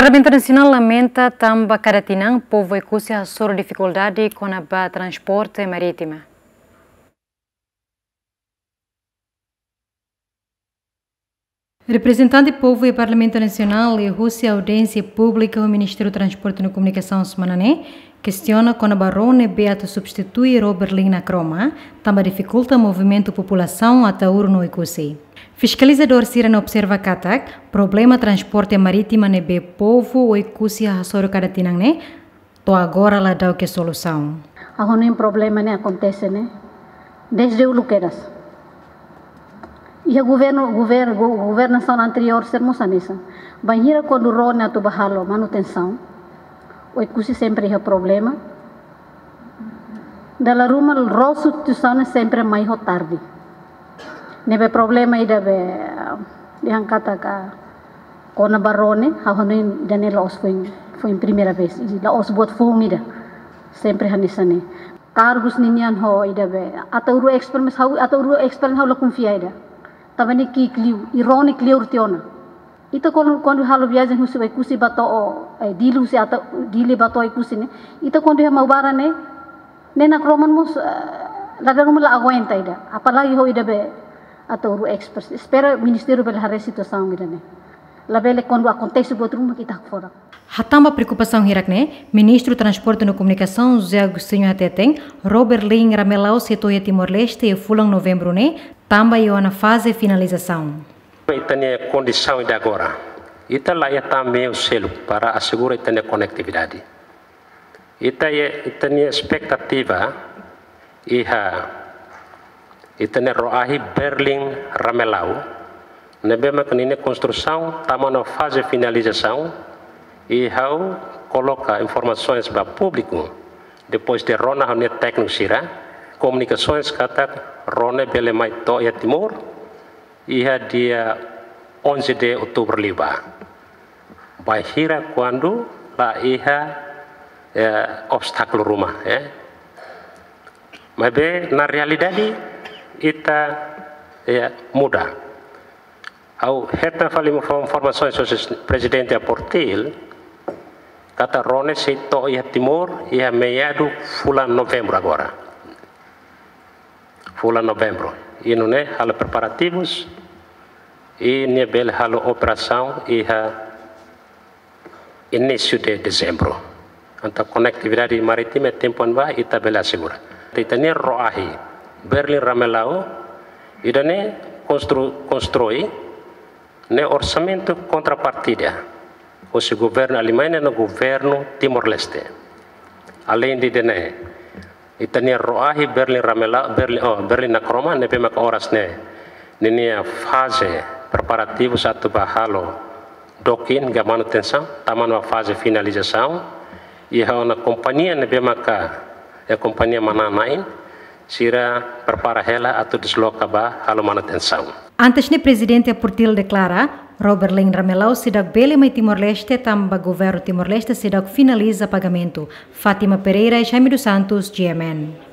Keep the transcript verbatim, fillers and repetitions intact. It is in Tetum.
Parlamentu Nasionál lamenta tanba kada tinan povu Oekusi hasoru difikuldade kona-ba transporte marítima. Reprezentante povu iha Parlamentu Nasionál iha husi audiénsia públika ho Ministru Transporte no Komunikasaun semana ne'e kestiona kona-ba ró ne'ebé atu substitui ró Berlin Nakroma, tanba difikulta movimentu populasaun Ataúro no Oekusi. Fiskalizadór sira-ne'e observa katak problema transporte marítima ne'ebé povu Oekusi hasoru kada tinan ne'e to'o agora la da'u ke solusaun. Ha'u hanoin problema ne'e akontese ne'e dezde uluk kedas. Iha governu, gover-, go-, governasaun anteriór sira mós hanesan. Bainhira kuandu ró ne'e atu bá halo manutensaun, Oekusi sempre iha problema. Dala ruma ró substituisaun ne'e sempre mai ho tarde. Ne'ebé problema ida be, eh, dehan katak kona-ba ró ne'e, ha'u hanoin ida-ne'e la'ós foin, foin primeira vez, i la'ós buat foun ida. Sempre hanesan ne'e. Kargus ninian ho ida be, Ataúro Express, mas ha'u, Ataúro Express ha'u la konfia ida. Tanba ne'e ki'ik liu, i ró ne'e kleur tiha ona. Ita kuandu, kuandu halo viajen husi Oekusi bá to'o, eh, Dili husi Ata-, Dili bá to'o Oekusi ne'e. Ita kuandu iha Maubara ne'e, ne'e Nakroman mós, eh, la dala ruma la aguenta ida. Apalagi ho ida be Ataúro Express. Espera ministériu bele haree situasaun ida-ne'e. Labele kuandu akontese buat ruma ita hakfodak. Hatán ba preokupasaun hirak-ne'e, Ministru Transporte no Komunikasaun José Agostinho hateten, ró Berlin Ramelau sei to'o iha Timor-Leste iha fulan Novembru ne'e, tanba iha ona faze finalizasaun. Ita-nia kondisaun ida agora, ita la iha tan meiu seluk para asegura ita-nia konektividade. Ita iha, ita-nia espetativa iha ita-nia ró-ahi Berlin Ramelau, ne'ebé maka ninia konstrusaun tama ona faze finalizasaun, i ha'u koloka informasoens ba públiku, depois de rona ho nia tékniku sira, komunikasoens katak ró ne'e bele mai to'o iha Timor, iha dia onze de outubro liubá. Bainhira kuandu la iha, eh, obstákulu ruma, eh. Maibé, na realidade, ita, eh, muda. Ha'u hetan fali info-, informasoens husi Prezidente Portil, katak ró ne'e sei to'o iha Timor, iha meadu fulan Novembru agora. Fulan Novembru. I nune'e halo preparativus, i nia bele halo operasaun iha inísiu de Dezembru. Entaun konektividade marítima iha tempu ne'ebá ita bele asegura. Ita-nia ró-ahi Berlin Ramelau, ida-ne'e konstru-, konstrui ne'e orsamentu kontrapartida husi governu Alemanha no governu Timor-Leste. Aleinde ida-ne'e, ita-nia ró-ahi Berlin Ramelau, Berlin, oh, Berlin Nakroma, ne'ebé maka oras ne'e ninia faze preparativus atu bá halo docking ka manutensaun, tama ona faze finalizasaun, i iha ona kompañia ne'ebé maka, eh, kompañia manán-na'in, sira prepara hela atu desloka bá halo manutensaun. Antes ne'e Prezidente Portil deklara, ró Berlin Ramelau seidauk bele mai Timor-Leste tanba governu Timor-Leste seidauk finaliza pagamentu. Fátima Pereira, Jaime dos Santos, G M N.